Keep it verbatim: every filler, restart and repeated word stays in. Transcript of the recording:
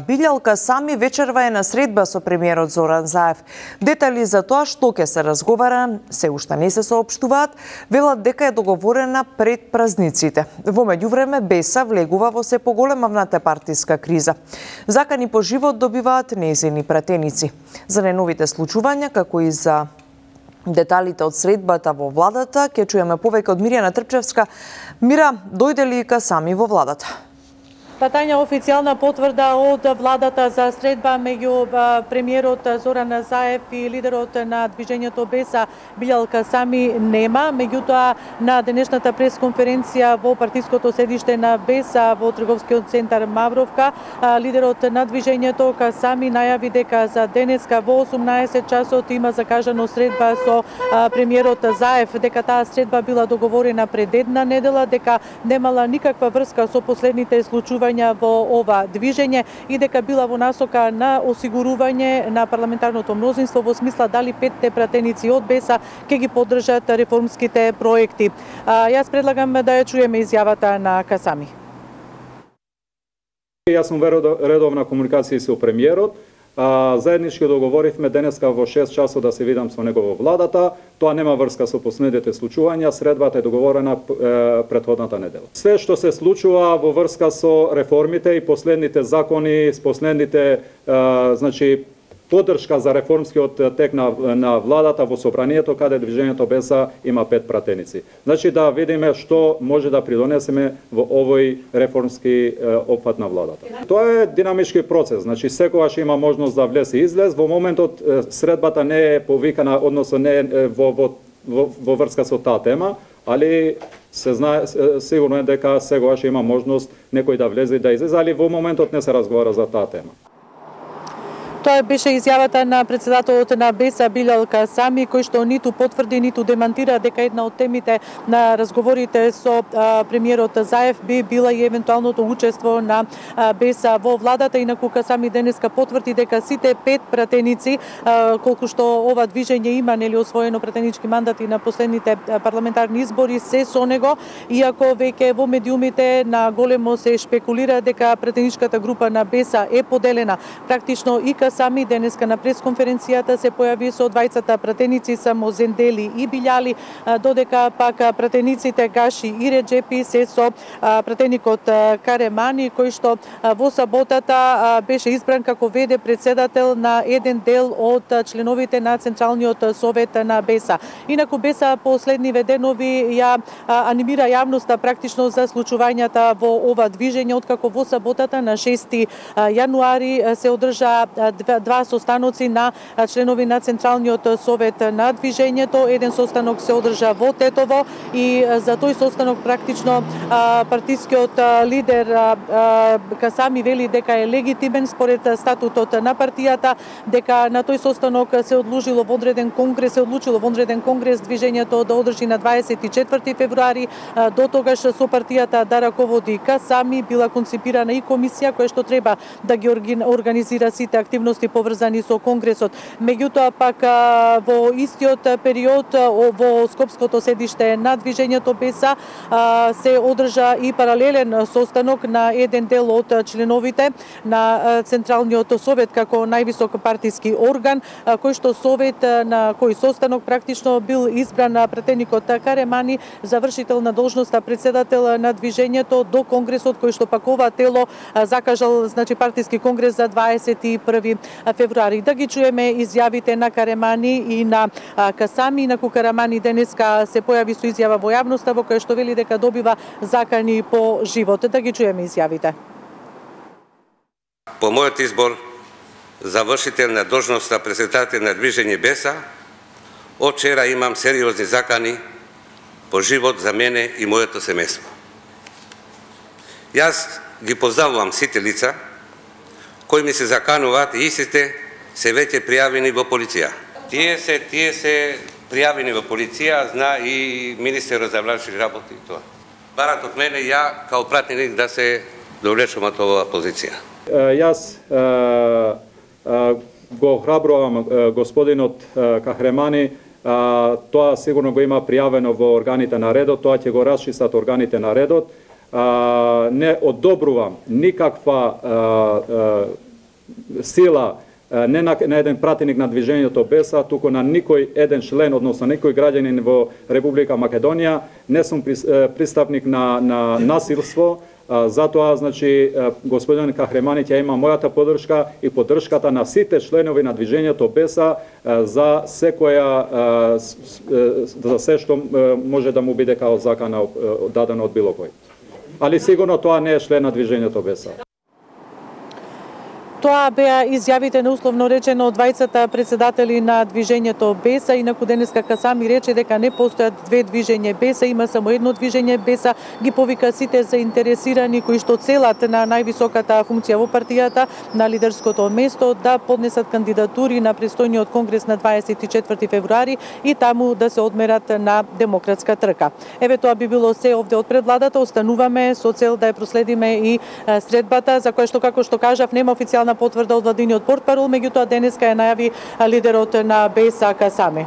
Билјалка Сами вечерва е на средба со премиерот Зоран Заев. Детали за тоа што ќе се разговара се уште не се соопштуваат, велат дека е договорена пред празниците. Во меѓувреме Беса влегува во се поголема внатепартиска криза. Закани по живот добиваат нејзини пратеници. За најновите случувања, како и за деталите од средбата во владата, ќе чуеме повеќе од Мирјана Трпчевска. Мира, дојде ли Сами во владата? Тања, официјална потврда од владата за средба меѓу премиерот Зоран Заев и лидерот на движењето Беса Билјалка Сами нема. Меѓутоа, на денешната пресконференција во партиското седиште на Беса во трговскиот центар Мавровка, лидерот на движењето Сами најави дека за денеска во осумнаесет часот има закажано средба со премиерот Заев, дека таа средба била договорена пред една недела, дека немала никаква врска со последните случувања во ова движење и дека била во насока на осигурување на парламентарното мнозинство во смисла дали петте пратеници од Беса ќе ги поддржат реформските проекти. А, јас предлагам да ја чуеме изјавата на Сами. Јас сум редовна комуникација со премиерот. А, заеднички договоривме денеска во шест часот да се видам со него во владата. Тоа нема врска со последните случувања, средбата е договорена е, предходната недела. Све што се случува во врска со реформите и последните закони, с последните е, значи поддршка за реформскиот тек на, на владата во собранието, каде движењето Беса има пет пратеници. Значи да видиме што може да придонесеме во овој реформски е, опфат на владата. Тоа е динамички процес, значи секогаш има можност да влез и излез. Во моментот е, средбата не е повикана, односно не е во, во, во, во врска со таа тема, али се знае, сигурно е дека секогаш има можност некој да влезе и да излезе, али во моментот не се разговара за таа тема. Тоа беше изјавата на председателот на Беса Билјалка Сами, кој што ниту потврди, ниту демантира дека една од темите на разговорите со а, премиерот Заев би била и евентуалното учество на а, Беса во владата. Инаку Сами денеска потврди дека сите пет пратеници, а, колку што ова движење има нели освоено пратенички мандати на последните парламентарни избори, се со него, иако веќе во медиумите на големо се шпекулира дека пратеничката група на Беса е поделена. Практично и Сами денеска на пресконференцијата се појави со двајцата пратеници само Зендели и Билјали, додека пак пратениците Гаши и Реджепи се со пратеникот Каремани, кој што во саботата беше избран како веде председател на еден дел од членовите на Централниот совет на Беса. Инаку Беса последниве денови ја анимира јавноста практично за случувањата во ова движење, откако во саботата на шести јануари се одржа два состаноци на членови на Централниот совет на движењето. Еден состанок се одржа во Тетово и за тој состанок практично партискиот лидер Сами вели дека е легитимен според статутот на партијата, дека на тој состанок се одложило вонреден конгрес, се одлучило вонреден конгрес движењето да одржи на дваесет и четврти февруари. До тогаш со партијата да раководи Сами, била концепирана и комисија која што треба да ги организира сите активности поврзани со конгресот. Меѓутоа пак во истиот период во скопското седиште на движењето Беса се одржа и паралелен состанок на еден дел од членовите на Централниот совет како највисок партиски орган, кој што совет на кој состанок практично бил избран пратеникот Каремани за вршител на должноста председател на движењето до конгресот, кој што пак ова тело закажал значи партиски конгрес за дваесет и први февруари. Да ги чуеме изјавите на Каремани и на Сами. Инаку Каремани денеска се појави со изјава во јавноста во која што вели дека добива закани по живот. Да ги чуеме изјавите. По мојот избор за вршител на должноста председател на движење Беса, од вчера имам сериозни закани по живот за мене и моето семејство. Јас ги поздравувам сите лица кои ми се закануваат и истите се веќе пријавени во полиција. Тие се, тие се пријавени во полиција, зна и министерот за внатрешни работи и тоа. Барат од мене ја као пратеник да се довлечам од оваа позиција. Јас го охрабрувам господинот Кахремани, тоа сигурно го има пријавено во органите на редот, тоа ќе го расчистат органите на редот. не одобрувам никаква сила не на, на еден пратеник на движењето БЕСА, туку на никој еден член, односно никој граѓанин во Република Македонија. Не сум пристапник на, на насилство, затоа, значи, господин Кахремани ќе има мојата поддршка и поддршката на сите членови на движењето БЕСА за секоја, за се што може да му биде као закана дадено од било кој. Али сигурно тоа не е член на движењето БЕСА. Тоа беа изјавите на условно речено од двајцата председатели на движењето БЕСА. Инаку денеска Касами рече дека не постојат две движење БЕСА, има само едно движење БЕСА. Ги повика сите заинтересирани кои што целат на највисоката функција во партијата, на лидерското место, да поднесат кандидатури на престојниот конгрес на дваесет и четврти февруари и таму да се одмерат на демократска трка. Еве, тоа би било се овде од пред владата. Остануваме со цел да ја проследиме и средбата, за која што, како што кажав, нема официјална потврда од владиниот портпарол, меѓутоа денеска ја најави лидерот на БЕСА Касами.